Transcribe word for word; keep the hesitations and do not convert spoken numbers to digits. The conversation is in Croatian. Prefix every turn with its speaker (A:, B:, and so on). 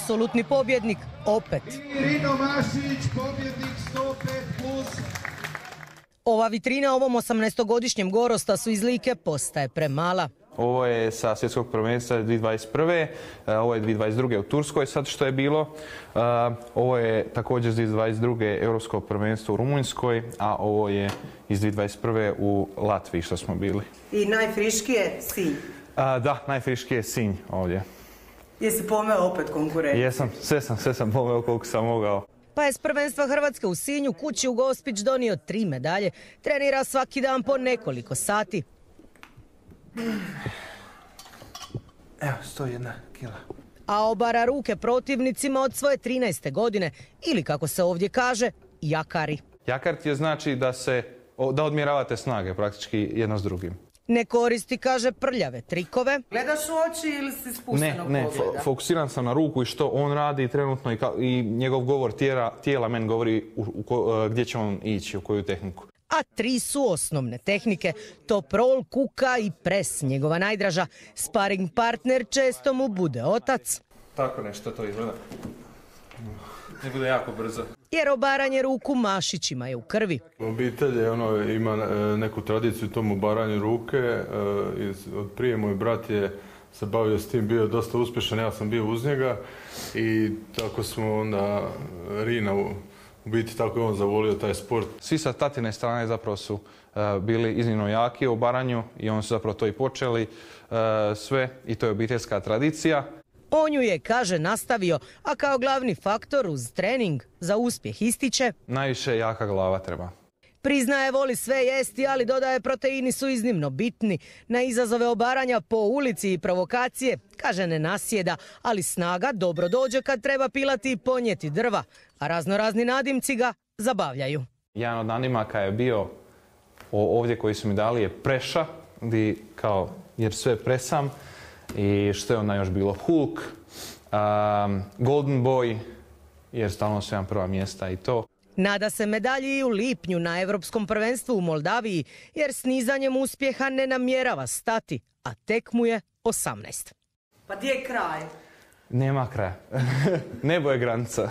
A: apsolutni pobjednik opet.
B: Rino Mašić, pobjednik sto pet plus.
A: Ova vitrina ovom osamnaestogodišnjem Gorostasu iz Like postaje premala.
C: Ovo je sa svjetskog prvenstva dvije tisuće dvadeset prve. Ovo je dvije tisuće dvadeset druge u Turskoj sad što je bilo. Ovo je također iz dvije tisuće dvadeset druge europsko prvenstvo u Rumunjskoj, a ovo je iz dvije tisuće dvadeset prve u Latviji što smo bili.
A: I najfriškiji je Sinj.
C: Da, najfriškiji je Sinj ovdje.
A: Jesi pomeo opet konkurenciju?
C: Jesam, sve sam, sve sam pomeo koliko sam mogao.
A: Pa je s prvenstva Hrvatske u Sinju kući u Gospić donio tri medalje. Trenira svaki dan po nekoliko sati.
C: Evo, sto jedna kila.
A: A obara ruke protivnicima od svoje trinaeste godine, ili kako se ovdje kaže, jakari.
C: Jakar ti je znači da se, da odmjeravate snage praktički jedno s drugim.
A: Ne koristi, kaže, prljave trikove.
D: Gledaš u oči ili si spuštenog
C: Ne, ne,
D: pogleda?
C: fokusiran sam na ruku i što on radi trenutno i, ka, i njegov govor tijela, tijela meni govori u, u ko, gdje će on ići, u koju tehniku.
A: A tri su osnovne tehnike, top roll, kuka i pres, njegova najdraža. Sparing partner često mu bude otac.
C: Tako nešto to izgleda. Ne bude jako brzo.
A: Jer obaranje ruku Mašićima je u krvi.
E: Obitelj je, ono, ima neku tradiciju tomu obaranju ruke. Od prije moj brat je se bavio s tim, bio dosta uspješan, ja sam bio uz njega i tako smo onda Rina u biti tako je on zavolio taj sport.
C: Svi sa tatine strane zapravo su uh, bili iznimno jaki u obaranju i oni su zapravo to i počeli uh, sve i to je obiteljska tradicija.
A: On ju je, kaže, nastavio, a kao glavni faktor uz trening za uspjeh ističe:
C: najviše jaka glava treba.
A: Priznaje, voli sve jesti, ali dodaje, proteini su iznimno bitni. Na izazove obaranja po ulici i provokacije, kaže, ne nasjeda, ali snaga dobro dođe kad treba pilati i ponijeti drva, a raznorazni nadimci ga zabavljaju.
C: Jedan od nadimaka je bio ovdje koji su mi dali je preša, di kao, jer sve presam. I što je onda još bilo? Hulk, um, Golden Boy, jer stalno su jedan prva mjesta i to.
A: Nada se medalji i u lipnju na Europskom prvenstvu u Moldaviji, jer s nizanjem uspjeha ne namjerava stati, a tek mu je osamnaest.
D: Pa gdje je kraj?
C: Nema kraja. Nebo je granica.